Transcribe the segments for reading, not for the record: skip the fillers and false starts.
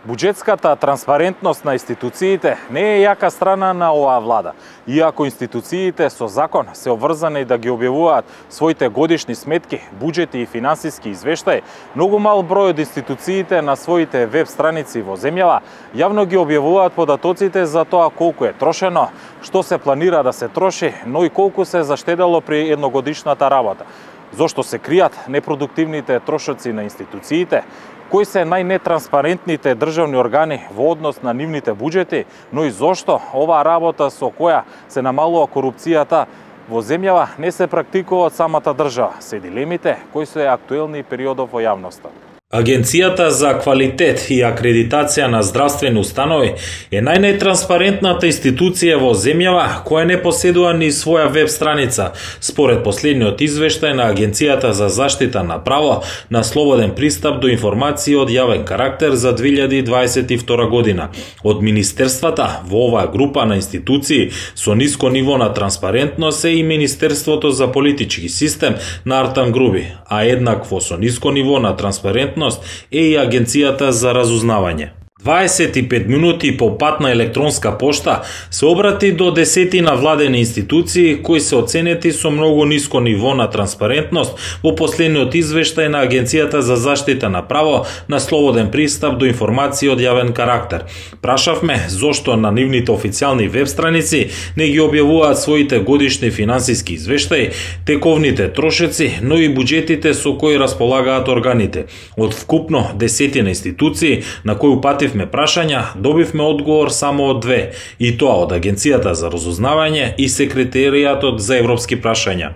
Буџетската транспарентност на институциите не е јака страна на оваа влада. Иако институциите со закон се обврзани да ги објавуваат своите годишни сметки, буџети и финансиски извештаи, многу мал број од институциите на своите веб страници во земјава јавно ги објавуваат податоците за тоа колку е трошено, што се планира да се троши, но и колку се заштедело при едногодишната работа. Зошто се кријат непродуктивните трошоци на институциите, кои се најнетранспарентните државни органи во однос на нивните буџети, но и зошто оваа работа со која се намалува корупцијата во земјава не се практикува од самата држава, се дилемите кои се актуелни периодов во јавноста. Агенцијата за квалитет и акредитација на здравствени установи е најнетранспарентната институција во земјава која не поседува ни своја веб страница, според последниот извештај на Агенцијата за заштита на право на слободен пристап до информации од јавен карактер за 2022 година. Од министерствата во оваа група на институции со ниско ниво на транспарентност е и Министерството за политички систем на Артан Груби, а еднакво со ниско ниво на транспарентност е и Агенцијата за разузнавање. 25 минути по пат на електронска пошта се обрати до десетина владени институции кои се оценети со многу ниско ниво на транспарентност во последниот извештај на Агенцијата за заштита на право на слободен пристап до информации од јавен карактер. Прашавме зошто на нивните официјални веб страници не ги објавуваат своите годишни финансиски извештаи, тековните трошеци, но и буџетите со кои располагаат органите. Од вкупно десетина институции на кои упативме прашања, добивме одговор само од две, и тоа од Агенцијата за разузнавање и Секретаријатот за европски прашања.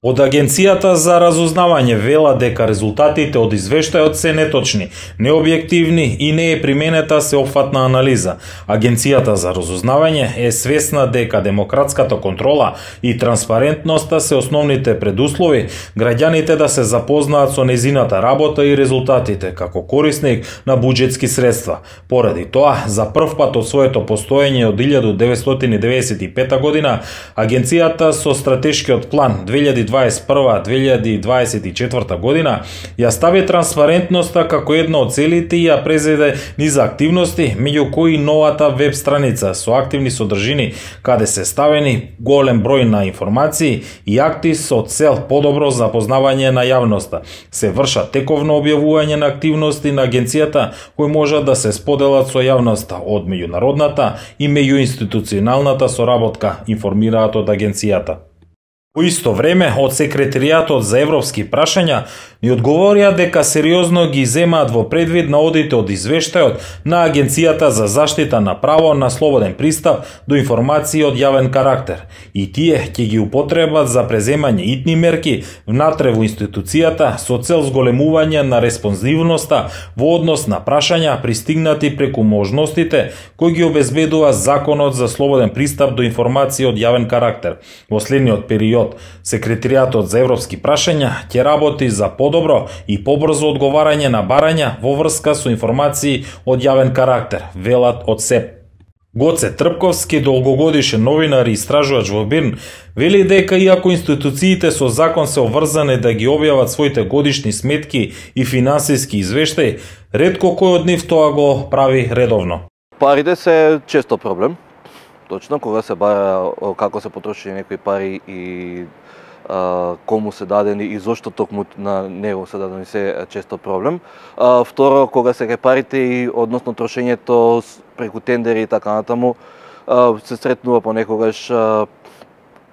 Од Агенцијата за разузнавање вела дека резултатите од извештајот се неточни, необјективни и не е применета сеопфатна анализа. Агенцијата за разузнавање е свесна дека демократската контрола и транспарентноста се основните предуслови граѓаните да се запознаат со незината работа и резултатите како корисник на буџетски средства. Поради тоа, за прв пат од своето постоење од 1995 година, Агенцијата со стратешкиот план 2021-2024 година ја стави транспарентноста како една од целите и ја презеде низа активности, меѓу кои новата веб страница со активни содржини каде се ставени голем број на информации и акти со цел подобро запознавање на јавноста. Се вршат тековно објавување на активности на агенцијата кои можат да се споделат со јавноста од меѓународната и меѓуинституционалната соработка, информираат од агенцијата. По исто време, од Секретаријатот за европски прашања ни одговорија дека сериозно ги земаат во предвид на одите од извештајот на Агенцијата за заштита на право на слободен пристап до информации од јавен карактер и тие ќе ги употребат за преземање итни мерки внатре во институцијата со цел зголемување на респонзивноста во однос на прашања пристигнати преку можностите кои ги обезбедува Законот за слободен пристап до информации од јавен карактер. Во следниот период Секретаријатот за европски прашања ќе работи за подобро и побрзо одговарање на барања во врска со информации од јавен карактер, велат од СЕП. Гоце Трпковски, долгогодишен новинар и истражувач во БИРН, вели дека иако институциите со закон се обврзани да ги објават своите годишни сметки и финансиски извештаи, ретко кој од нив тоа го прави редовно. Парите се често проблем. Точно, кога се бара како се потрошени некои пари и кому се дадени и зошто токму на него се дадени се често проблем. Второ, кога се ке парите и односно трошењето преку тендери и така натаму, се сретнува понекогаш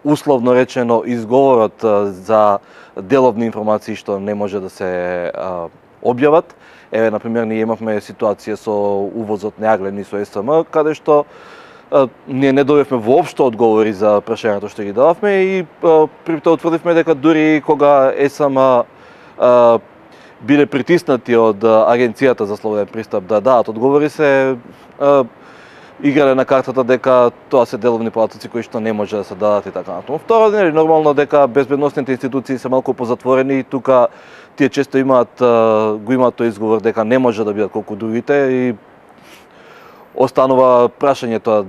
условно речено изговорот за деловни информации што не може да се објават. Еве, например, ние имавме ситуација со увозот на јаглени со СМ, каде што ние не добивме воопшто одговори за прашањето што ги дававме и при тоа утврдивме дека дури кога СМ биле притиснати од Агенцијата за слободен пристап да дадат одговори, се играле на картата дека тоа се деловни податоци кои што не може да се дадат и така натаму. Второ, нормално дека безбедносните институции се малку позатворени и тука тие често имаат тој изговор дека не може да бидат колку другите и останува прашањето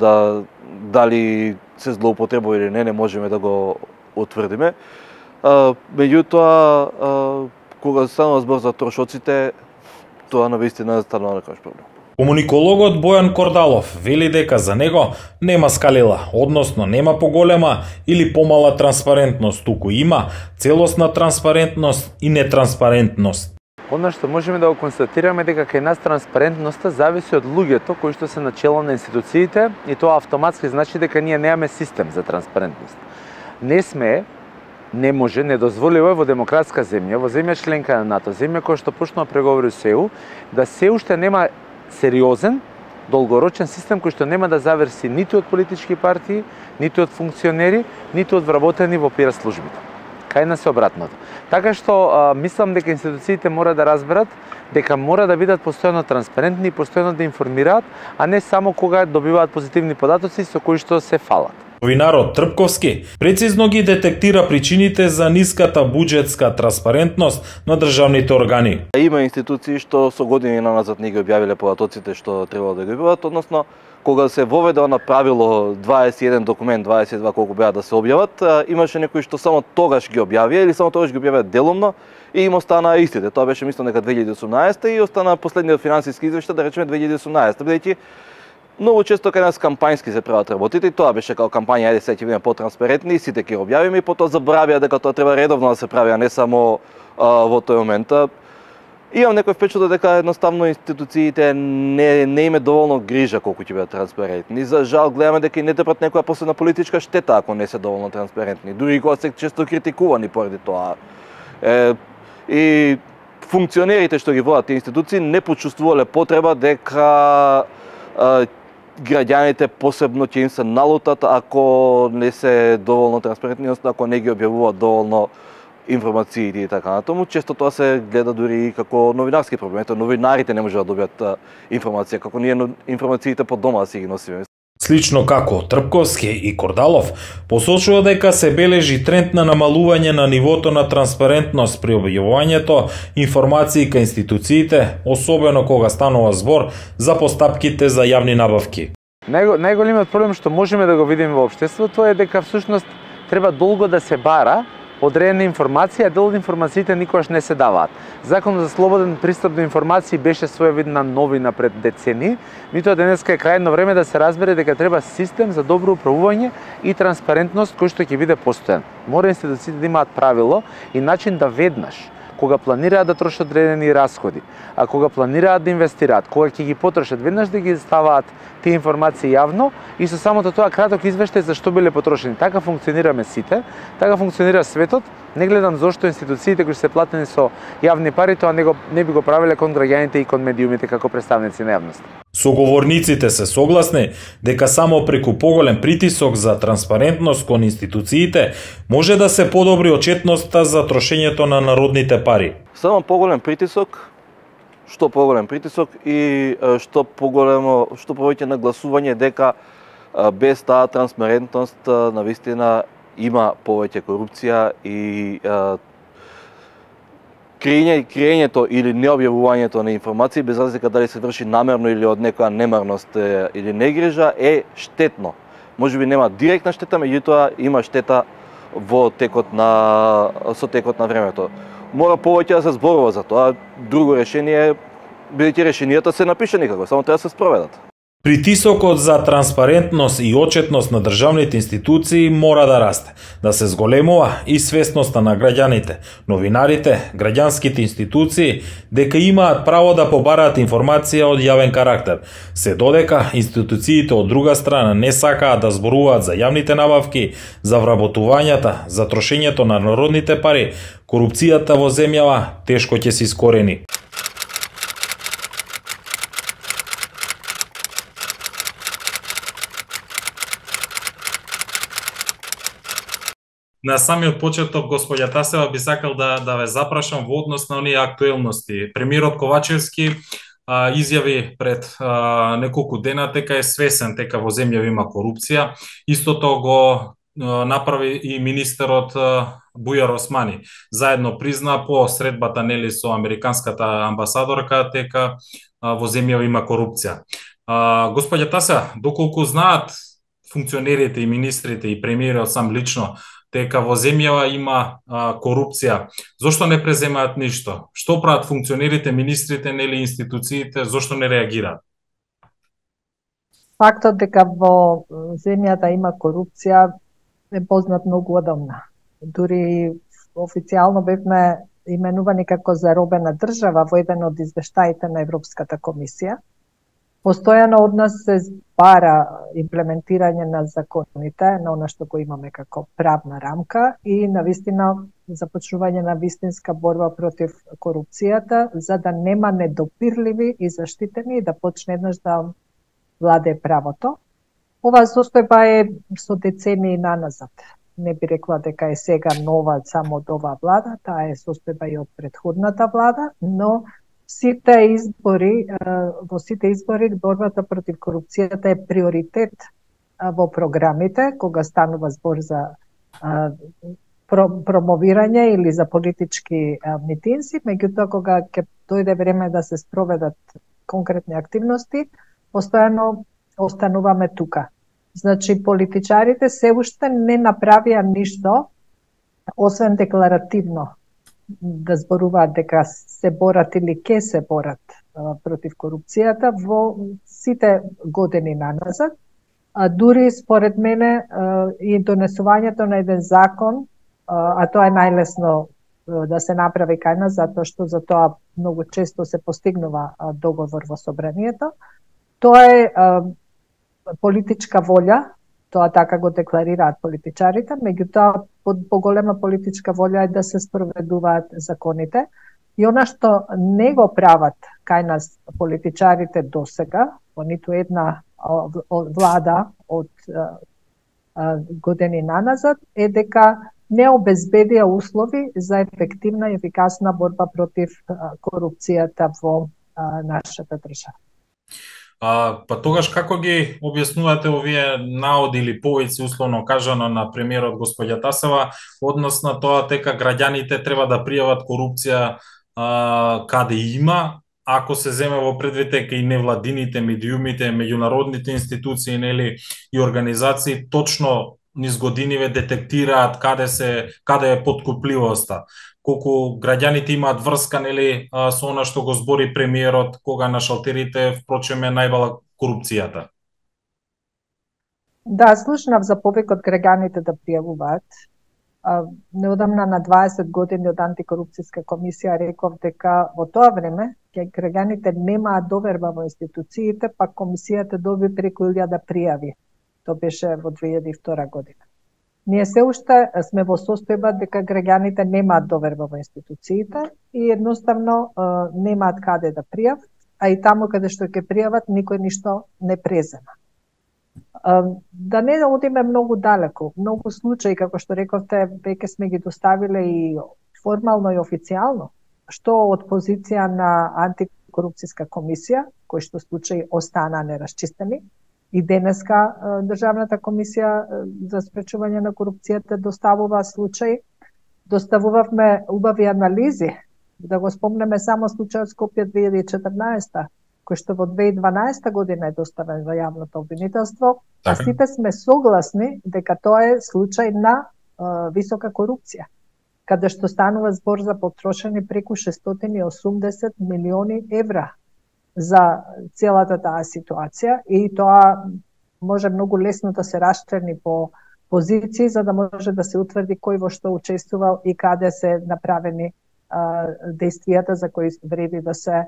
дали се злоупотребува или не можеме да го утврдиме. Меѓутоа, кога станува збор за трошоците, тоа навистина станува некојаш проблем. Комуникологот Бојан Кордалов вели дека за него нема скалила, односно нема поголема или помала транспарентност, туку има целосна транспарентност и нетранспарентност. Оно што можеме да го констатираме дека кај нас транспарентноста зависи од луѓето кои што се начело на институциите и тоа автоматски значи дека ние немаме систем за транспарентност. Не може, не дозволива во демократска земја, во земја членка на НАТО, земја која што почнува преговори со ЕУ, да се уште нема сериозен, долгорочен систем кој што нема да заврси ниту од политички партии, ниту од функционери, ниту од вработени во пиар службите. Кај нас е обратното. Така што мислам дека институциите мора да разберат дека мора да бидат постојано транспарентни и постојано да информираат, а не само кога добиваат позитивни податоци со кои што се фалат. Новинарот Трпковски прецизно ги детектира причините за ниската буџетска транспарентност на државните органи. Има институции што со години назад не ги објавиле податоците што требало да ги објават, односно кога се воведе на правило 21 документ, 22 колку беа да се објават, имаше некои што само тогаш ги објавија или само тогаш ги објавија делумно и им остана истите. Тоа беше мислам дека 2018 и остана последниот финансиски извештај, да речеме 2018, бидејќи многу често кај нас кампањски се прават работите и тоа беше како кампања, ајде сега ќе бидеме потранспарентни и сите ќе објавиме и потоа забравија дека тоа треба редовно да се прави, а не само во тој момент. Имам некој впечаток дека едноставно институциите не име доволно грижа колку ќе бидат транспарентни. За жал гледаме дека и не трпат некоја последна политичка штета ако не се доволно транспарентни. Дури и кога се често критикувани поради тоа. И функционерите што ги водат тие институции не почувствувале потреба дека граѓаните посебно ќе им се налутат ако не се доволно транспарентни, односно ако не ги објавуваат доволно информациите и така натаму. Често тоа се гледа дури и како новинарски проблем. Ето, новинарите не можат да добијат информација, како ние информациите по дома да си ги носиме. Слично како Трпковски и Кордалов посочува дека се бележи тренд на намалување на нивото на транспарентност при објавувањето информации кај институциите, особено кога станува збор за постапките за јавни набавки. Најголемиот проблем што можеме да го видиме во општеството е дека всушност треба долго да се бара одредена информација, а дел од информациите никогаш не се даваат. Законот за слободен пристап до информации беше своевидна новина пред децени, меѓутоа денеска е крајно време да се разбере дека треба систем за добро управување и транспарентност кој што ќе биде постојан. Мора институциите да имаат правило и начин да веднаш кога планираат да трошат одредени расходи, а кога планираат да инвестираат, кога ќе ги потрошат, веднаш да ги ставаат тие информации јавно и со самото тоа краток извештај за што биле потрошени. Така функционираме сите, така функционира светот. Не гледам зошто институциите кои се платени со јавни пари тоа не би го правеле кон граѓаните и кон медиумите како представници на јавноста. Соговорниците се согласни дека само преку поголем притисок за транспарентност кон институциите може да се подобри отчетноста за трошењето на народните пари. Само поголем притисок, што поголем притисок и што повеќе нагласување дека без таа транспарентност навистина има повеќе корупција и криењето или необјавувањето на информации, без разлика дали се врши намерно или од некоја немарност или негрижа, е штетно. Можеби нема директна штета, меѓутоа има штета со текот на времето. Мора повеќе да се зборува за тоа. Друго решение, бидејќи решенијата се напишани како, само треба да се спроведат. Притисокот за транспарентност и отчетност на државните институции мора да расте, да се зголемува и свесноста на граѓаните, новинарите, граѓанските институции дека имаат право да побараат информација од јавен карактер, се додека институциите од друга страна не сакаат да зборуваат за јавните набавки, за вработувањата, за трошењето на народните пари, корупцијата во земјава тешко ќе се искорени. На самиот почеток, господја Тасева, би сакал да ве запрашам во однос на оние актуелности. Премиерот Ковачевски изјави пред неколку дена дека е свесен дека во земјава има корупција. Истото го направи и министерот Бујар Османи. Заедно призна по средбата нели со американската амбасадорка дека во земјава има корупција. Господја Тасева, доколку знаат функционерите и министрите и премиерот сам лично дека во земјава има корупција, зошто не преземаат ништо? Што прават функционерите, министрите, нели институциите, зошто не реагираат? Фактот дека во земјата има корупција е познат многу одамна. Дури официјално бевме именувани како заробена држава во еден од извештаите на Европската комисија. Постојано од нас се бара имплементирање на законите, на она што го имаме како правна рамка и навистина започнување на вистинска борба против корупцијата, за да нема недопирливи и заштитени и да почне еднаш да владее правото. Оваа состојба е со децении наназад. Не би рекла дека е сега нова само од оваа влада, таа е состојба и од претходната влада, но во сите избори борбата против корупцијата е приоритет во програмите, кога станува збор за промовирање или за политички митинзи, меѓутоа кога ќе дојде време да се спроведат конкретни активности, постојано остануваме тука. Значи, политичарите се уште не направија ништо, освен декларативно да зборуваат дека се борат или ке се борат против корупцијата во сите години наназад. Дури, според мене, и донесувањето на еден закон, а тоа е најлесно да се направи кај нас, затоа што за тоа многу често се постигнува договор во собранието, тоа е политичка волја, тоа така го декларираат политичарите, меѓутоа поголема политичка волја е да се спроведуваат законите. И она што не го прават кај нас политичарите досега, во ниту една влада од години наназад, е дека не обезбедија услови за ефективна и ефикасна борба против корупцијата во нашата држава. Па тогаш како ги објаснувате овие наоди или повици, условно кажано, на премиерот господја Тасева, однос на тоа дека граѓаните треба да пријават корупција каде има, ако се земе во предвид дека и невладините, медиумите, меѓународните институции, нели, и организации точно низ годиниве детектираат каде е подкупливоста, колку граѓаните имаат врска, нели, со она што го збори премиерот, кога на шалтерите впрочем е најбала корупцијата. Да, слушнав за повикот граѓаните да пријавуваат. Неодамна на 20 години од антикорупцијска комисија реков дека во тоа време граѓаните немаат доверба во институциите, па комисијата доби преку 1000 пријави. Тоа беше во 2002 година. Ние се уште сме во состојба дека граѓаните немаат доверба во институциите и едноставно немаат каде да пријават, а и таму каде што ќе пријават никој ништо не презема. Да не одиме многу далеко, многу случаи, како што рековте, веќе сме ги доставиле и формално и официјално, што од позиција на антикорупцијска комисија, кои што случаи останаа нерасчистени, и денеска Државната комисија за спречување на корупцијата доставува случаи. Доставувавме убави анализи, да го спомнеме само случајот Скопје 2014, кој што во 2012 година е доставен во јавното обвинителство, а сите сме согласни дека тоа е случај на висока корупција, каде што станува збор за потрошени преку 680 милиони евра за целата таа ситуација, и тоа може многу лесно да се расчерни по позиции, за да може да се утврди кој во што учествувал и каде се направени действијата за кои вреди да се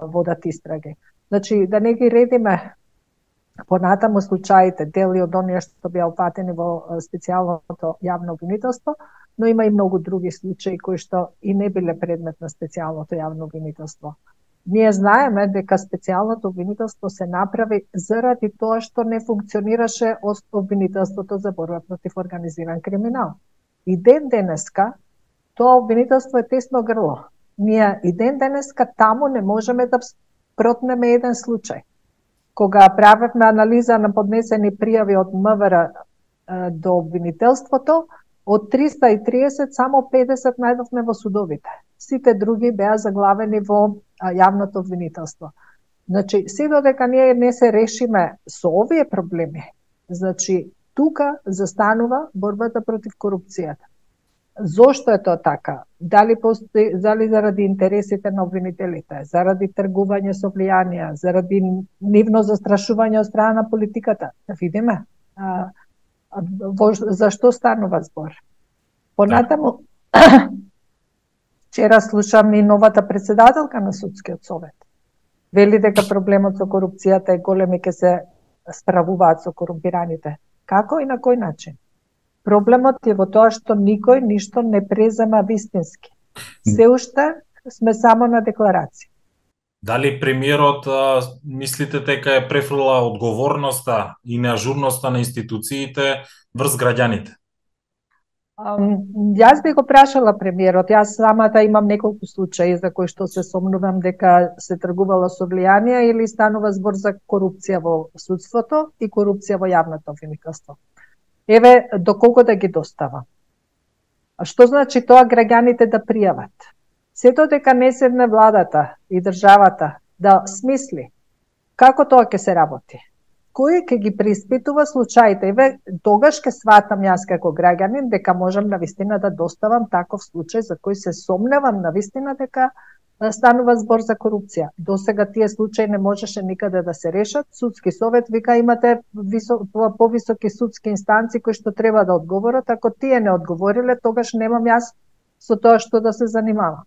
водат истраги. Значи, да не ги редиме понатаму случаите, дели од оние што беа опатени во специјалното јавно обвинителство, но има и многу други случаи кои што и не биле предмет на специјалното јавно обвинителство. Ние знаеме дека специјалното обвинителство се направи заради тоа што не функционираше обвинителството за борба против организиран криминал. И ден денеска тоа обвинителство е тесно грло. Ние и ден денеска таму не можеме да протнеме еден случај. Кога правевме анализа на поднесени пријави од МВР до обвинителството, од 330 само 50 најдовме во судовите. Сите други беа заглавени во јавното обвинителство. Значи, се додека ние не се решиме со овие проблеми, значи, тука застанува борбата против корупцијата. Зошто е тоа така? Дали заради интересите на обвинителите, заради тргување со влијанија, заради нивно застрашување од страна на политиката? Да видиме. За што станува збор? Понатаму, вчера слушам и новата председателка на Судскиот совет. Вели дека проблемот со корупцијата е голем и ќе се справуваат со корумпираните. Како и на кој начин? Проблемот е во тоа што никој ништо не презема вистински. Се уште сме само на декларација. Дали премиерот мислите дека е префрла одговорноста и неажурноста на институциите врз граѓаните? Јас би го прашала премиерот. Јас самата имам неколку случаи за кои што се сомнувам дека се тргувало со влијанија или станува збор за корупција во судството и корупција во јавното обвинителство. Еве, доколку да ги достава. А што значи тоа граѓаните да пријават? Сето дека не седне владата и државата да смисли како тоа ќе се работи. Кој ќе ги преиспитува случаите? Еве, тогаш ќе сватам јас како граѓанин дека можам навистина да доставам таков случај за кој се сомневам навистина дека станува збор за корупција. Досега тие случаи не можеше никаде да се решат. Судски совет вика имате повисоки судски инстанции кои што треба да одговорат. Ако тие не одговориле, тогаш немам јас со тоа што да се занимава.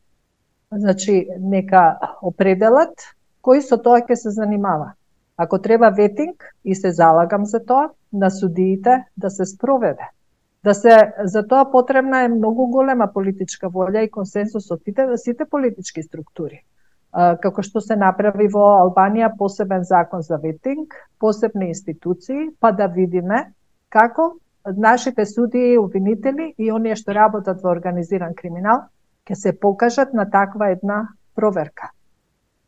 Значи, нека определат кој со тоа ќе се занимава. Ако треба ветинг, и се залагам за тоа, на судиите да се спроведе. За тоа потребна е многу голема политичка волја и консенсус од сите политички структури. Како што се направи во Албанија посебен закон за ветинг, посебни институции, па да видиме како нашите судии, обвинители и оние што работат во организиран криминал ќе се покажат на таква една проверка.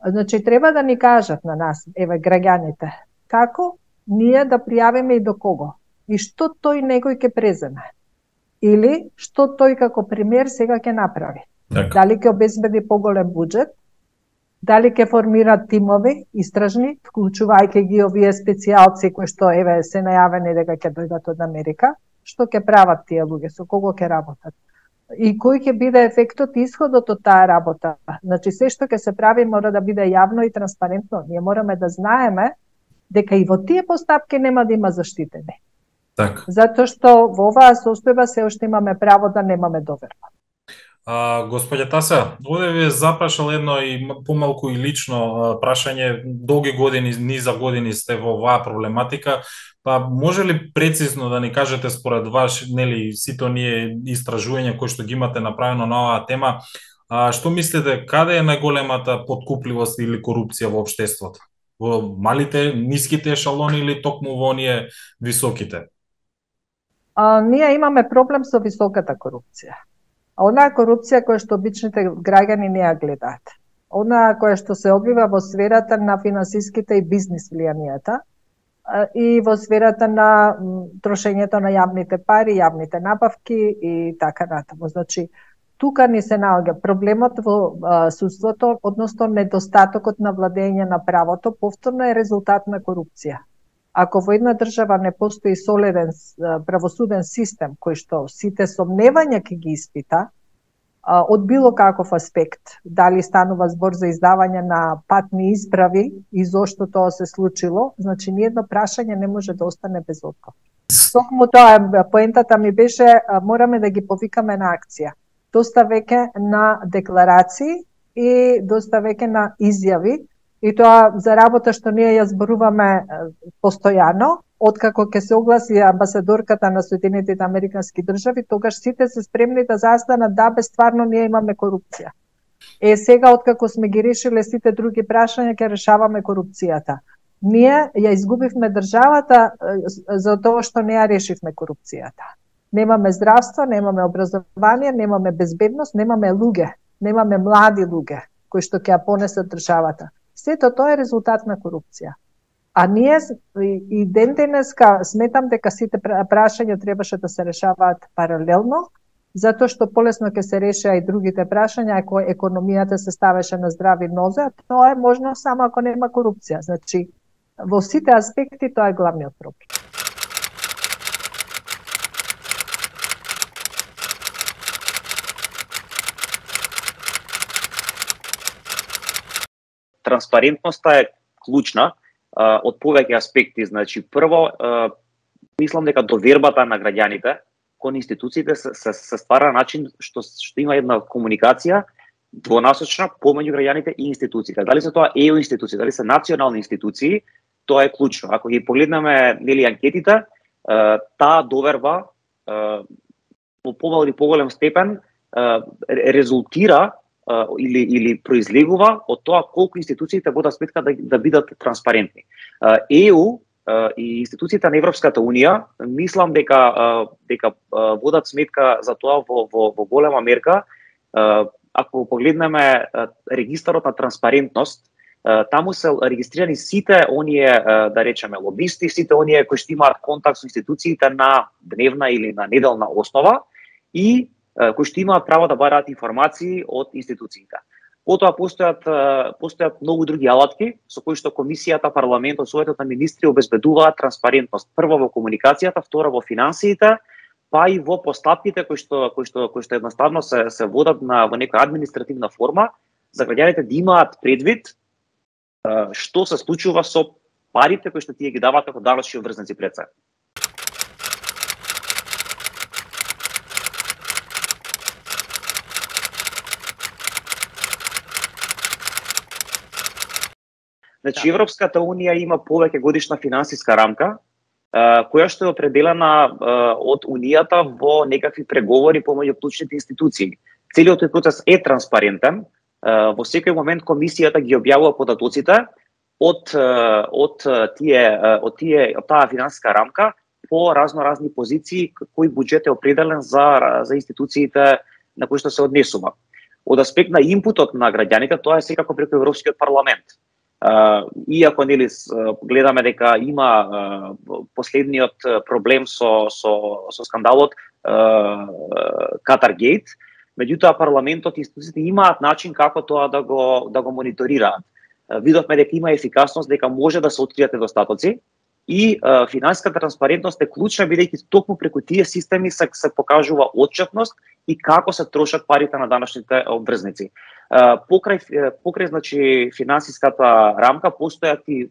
Значи, треба да ни кажат на нас, еве, граѓаните, како ние да пријавиме и до кого? И што тој некој ќе преземе? Или што тој како премиер сега ќе направи? Дали ќе обезбеди поголем буџет? Дали ќе формира тимови истражни, вклучувајќи ги овие специјалци кои што еве се најавени дека ќе дојдат од Америка? Што ќе прават тие луѓе? Со кого ќе работат? И кој ќе биде ефектот и исходот од таа работа? Значи, се што ќе се прави мора да биде јавно и транспарентно. Ние мораме да знаеме дека и во тие постапки нема да има заштитени. Так. Затоа што во оваа состојба се уште имаме право да немаме доверба. Господја Тася, овде ви запрашал едно и помалку и лично прашање. Долги години, низа години сте во оваа проблематика. Па може ли прецизно да ни кажете според вас, нели, сите оние истражувања кои што ги имате направено на оваа тема, што мислите, каде е најголемата подкупливост или корупција во општеството? Во малите, ниските ешалони или токму во оние високите? Ние имаме проблем со високата корупција. Онаа корупција која што обичните граѓани не ја гледаат. Онаа која што се одвива во сферата на финансиските и бизнис влијанијата и во сферата на трошењето на јавните пари, јавните набавки и така натаму. Значи, тука ни се наоѓа проблемот во судството, односно недостатокот на владење на правото, повторно е резултат на корупција. Ако во една држава не постои солиден правосуден систем кој што сите сомневања ќе ги испита, од било каков аспект, дали станува збор за издавање на патни исправи и зошто тоа се случило, значи ниедно прашање не може да остане без одговор. Токму тоа поентата ми беше, мораме да ги повикаме на акција. Доста веќе на декларации и доста веќе на изјави, и тоа за работа што ние ја зборуваме постојано, откако ќе се огласи амбасадорката на Соединетите Американски држави, тогаш сите се спремни да застанат да стварно ние имаме корупција. Сега откако сме ги решиле сите други прашања, ќе решаваме корупцијата. Ние ја изгубивме државата за тоа што не ја решивме корупцијата. Немаме здравство, немаме образование, немаме безбедност, немаме луѓе, немаме млади луѓе кои што ќе ја понесат државата. Сето тоа е резултат на корупција. А ние и ден денеска сметам дека сите прашања требаше да се решаваат паралелно, затоа што полесно ќе се решеа и другите прашања ако економијата се ставеше на здрави нозе, а тоа е можно само ако нема корупција. Значи, во сите аспекти тоа е главниот проблем. транспарентноста е клучна од повеќе аспекти. Значи, прво, мислам дека довербата на граѓаните кон институциите се ствара на начин што има една комуникација двонасочна помеѓу граѓаните и институциите. Дали се тоа ЕУ институции, дали се национални институции, тоа е клучно. Ако ги погледнеме анкетите, таа доверба во помал или поголем степен резултира или произлегува од тоа колку институциите водат сметка да бидат транспарентни. ЕУ и институциите на Европската Унија, мислам дека водат сметка за тоа во голема мерка. Ако погледнеме регистарот на транспарентност, таму се регистрирани сите оние, да речеме, лобисти, сите оние кои што имаат контакт со институциите на дневна или на неделна основа и кои што имаат право да бараат информации од институциите. Потоа постојат многу други алатки со кои што комисијата, парламентот, советот на министри обезбедуваат транспарентност. Прво во комуникацијата, второ во финансиите, па и во постапките кои што едноставно се водат во некоја административна форма за граѓаните да имаат предвид што се случува со парите кои што тие ги дават како даночни обврзници пред се. Значи, Европската Унија има повеќе годишна финансиска рамка, која што е определена од Унијата во некакви преговори помеѓу клучните институции. Целиот тој процес е транспарентен. Во секој момент комисијата ги објавува податоците од таа финансиска рамка по разноразни позиции кој буџет е определен за институциите на кои што се однесува. Од аспект на инпутот на граѓаните, тоа е секако преку Европскиот парламент. Иако гледаме дека има последниот проблем со скандалот Катаргейт, меѓутоа парламентот и институциите имаат начин како тоа да го мониторираат. Видовме дека има ефикасност, дека може да се откријат недостатоци и финансиската транспарентност е клучна, бидејќи токму преку тие системи се покажува отчетност и како се трошат парите на даночните обврзници. Покрај значи финансиската рамка постојат и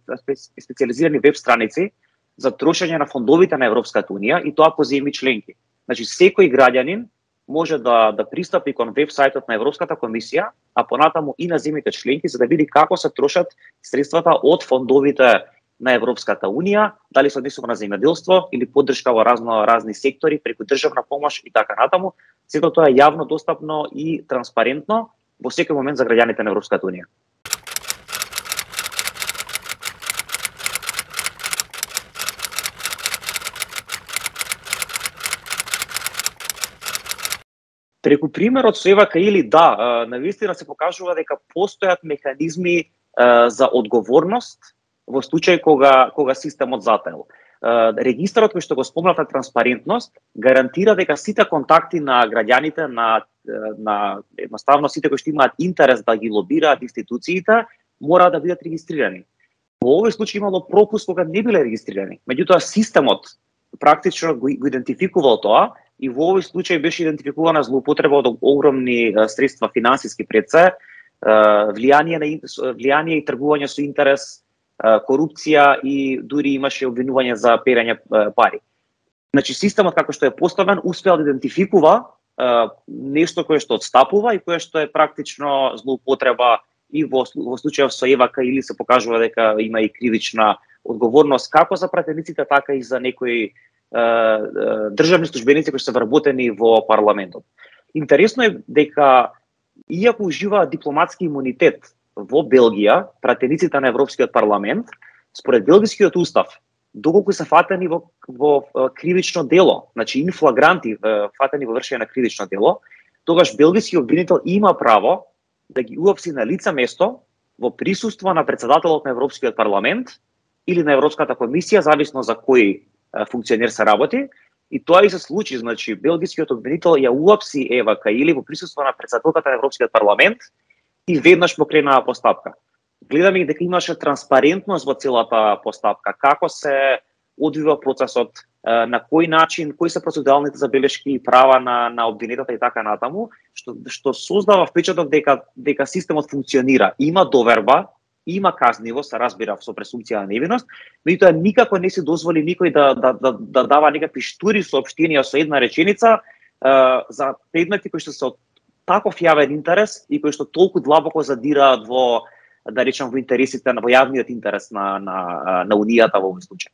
специализирани веб страници за трошење на фондовите на Европската Унија и тоа по земји членки. Значи секој граѓанин може да пристапи кон веб сајтот на Европската комисија, а понатаму и на земјите членки за да види како се трошат средствата од фондовите на Европската Унија, дали се однесува на земјоделство или поддршка во разни сектори преку државна помош и така натаму. Сето тоа е јавно достапно и транспарентно во секој момент за граѓаните на Европската Унија. Преку примерот со Ева Каили, навистина се покажува дека постојат механизми за одговорност во случај кога системот затаел. Регистарот кој што го спомнавте транспарентност гарантира дека сите контакти на граѓаните на едноставно сите кои што имаат интерес да ги лобираат институциите мора да бидат регистрирани. Во овој случај имало пропуск кога не биле регистрирани. Меѓутоа системот практично го идентификувал тоа и во овој случај беше идентификувана злоупотреба од огромни средства финансиски пред се, влијание и тргување со интерес, корупција и дури имаше обвинување за перење пари. Значи системот како што е поставен успеал да идентификува нешто кое што отстапува и кое што е практично злоупотреба и во случајот со Ева Каили се покажува дека има и кривична одговорност како за пратениците, така и за некои државни службеници кои се вработени во парламентот. Интересно е дека иако уживаат дипломатски имунитет во Белгија, пратениците на Европскиот парламент, според белгискиот устав, доколку се фатени во кривично дело, значи инфлагранти фатени во вршење на кривично дело, тогаш белгискиот обвинител има право да ги уапси на лице место во присуство на председателот на Европскиот парламент или на Европската комисија, зависно за кој функционер се работи. И тоа и се случи, значи белгискиот обвинител ја уапси Ева Каили во присуство на председателката на Европскиот парламент и веднаш покренаа постапка. Гледаме дека имаше транспарентност во целата постапка, како се одвива процесот, на кој начин, кои се процедуралните забелешки и права на обвинетата и така натаму, што создава впечаток дека системот функционира. Има доверба има казниво, се разбира со пресумпција на невиност, меѓутоа никако не се дозволи никој да дава некакви штури соопштенија со една реченица за предмети кои што се од таков јавен интерес и кои што толку длабоко задираат во, да речам, во интересите, во јавниот интерес на унијата во овој случај.